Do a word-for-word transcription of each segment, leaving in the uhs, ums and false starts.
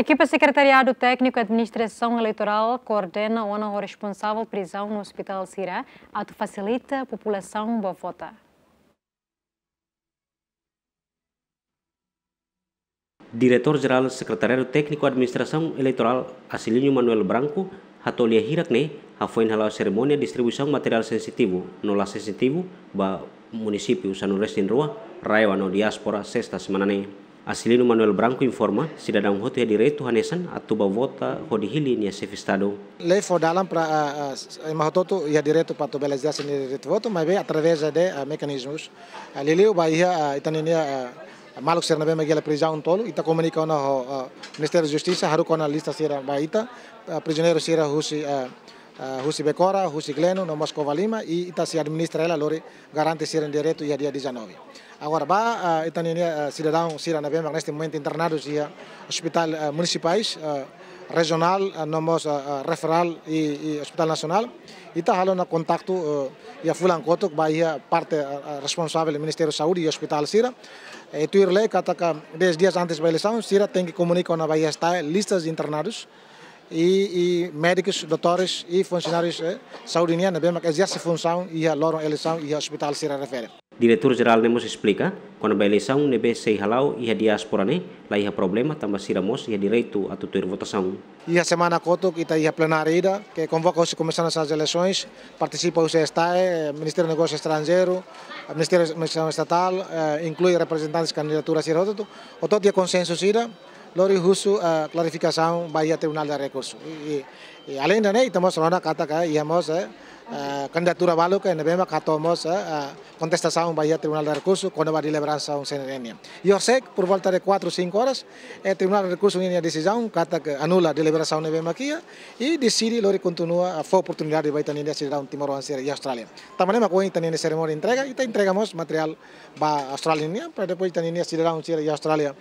Ekipa Sekretariadu Tékniku Administrasaun Eleitorál koordena ona ho responsavel prizaun no ospitál sira atu fasilita populasaun ba vota. Diretór Jerál Sekretariadu Tékniku Administrasaun Eleitorál, Acilino Manuel Branco, hato'o lia hirak ne'e hafoin hala'o serimónia distribuisaun materiál sensitivu no la sensitivu ba munisípiu sanulu-resin-rua, RAEOA no diáspora, sesta semana ne'e. Acilino Manuel Branco informa, sidadaun hotu iha direitu hanesan atu ba vota hodi hili nia xefe Estadu. Lei fó dalan para, ah, ah, ema hotu-hotu iha direitu para atu bele ezerse nia direitu votu, maibé através de, ah, mekanizmus. Ah, liuliu ba iha, ah, ita-nia, ah, maluk sira ne'ebé mak iha prizaun tolu, ita komunika ona ho, ah, Ministériu Justisa, haruka ona lista sira ba ita, ah, prizioneiru sira husi, ah, ah, husi Becora, husi Gleno, no mós Covalima, i ita sei administra hela lori garante sira-nia direitu iha dia dezanove. Agora ba, ah, ita-nia, ah, sidadaun sira ne'ebé mak neste momentu internadus iha ospitál, ah, munisipais, ah, rejionál, ah, no mós, ah, ah, referál i, i ospitál nasionál. Ita halo ona kontaktu, ah, iha fulan kotuk ba iha parte, ah, ah, responsavel Ministériu Saúde i ospitál sira. Eh, tuir lei katak dez dias antes ba eleisaun, sira tenke komunika ona ba iha STAE listas de internadus i, i médikus, doutores i funsionárius, eh, saúde nian ne'ebé mak ezerse funsaun iha loron eleisaun iha ospitál sira refere. Diretór Jerál ne'e mós esplika, kona-ba eleisaun ne'ebé sei hala'o iha diáspora ne'e, la iha problema tanba sira mós iha direitu atu tuir votasaun. Iha semana kotuk ita iha plenária ida, ke konvoka husi Komisaun Nasionál de Eleisoens, partisipa husi STAE, Ministériu Negósiu Estranjeiru, Ministériu Administrasaun Estatál, eh, inklui reprezentantes kandidatura sira hotu-hotu, hotu-hotu iha konsensu sira, lori husu, eh, klarifikasaun ba iha Tribunál de Rekursu. I, i, i aleinde ne'e, ita mós rona katak iha mós, eh, eh, kandidatura balu ke ne'ebé mak hato'o mós, eh, eh, kontestasaun ba iha Tribunál de Rekursu, kona-ba deliberasaun C N R nian. I horisehik, por volta de quatro, cinco horas, eh, Tribunál de Rekursu ninia desizaun katak anula deliberasaun ne'ebé mak iha, i deside lori kontinua, eh, fó oportunidade ba ita-nia sidadaun timoroan sira iha Austrália. Tanba ne'e mak ohin ita-nia serimónia entrega, ita entrega mós materiál ba Austrália nian, para depois ita-nia sidadaun sira iha Austrália,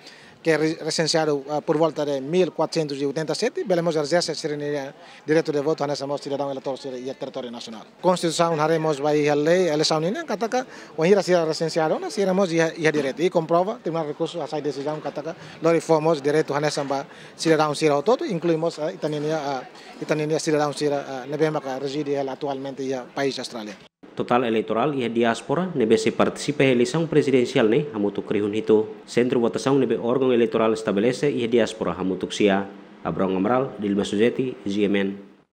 ke re-, resensiadu, ah, por volta de mil quatrocentos e oitenta e sete, bele mós ezerse sira-nia direitu de votu hanesan mós sidadaun eleitór sira iha territóriu nasionál. Konstituisaun haree mós ba iha lei eleisaun nian katak, wainhira sira resensiadu ona, sira mós iha, iha direitu. I komprova, Tribunál Rekursu hasai desizaun katak, lori fó mós direitu hanesan ba sidadaun sira hotu-hotu, inklui mós, ah, ita-nia, ah, ita-nia sidadaun sira, ah, ne'ebé maka rezide hela atualmente iha país Austrália. Totál eleitorál iha diáspora ne'ebé sei partisipa iha eleisaun prezidensiál ne'e hamutuk rihun hitu. Sentru votasaun ne'ebé órgaun eleitorál estabelese iha diáspora hamutuk sia. Abrão Amaral, Dilma Suzeti, G M N.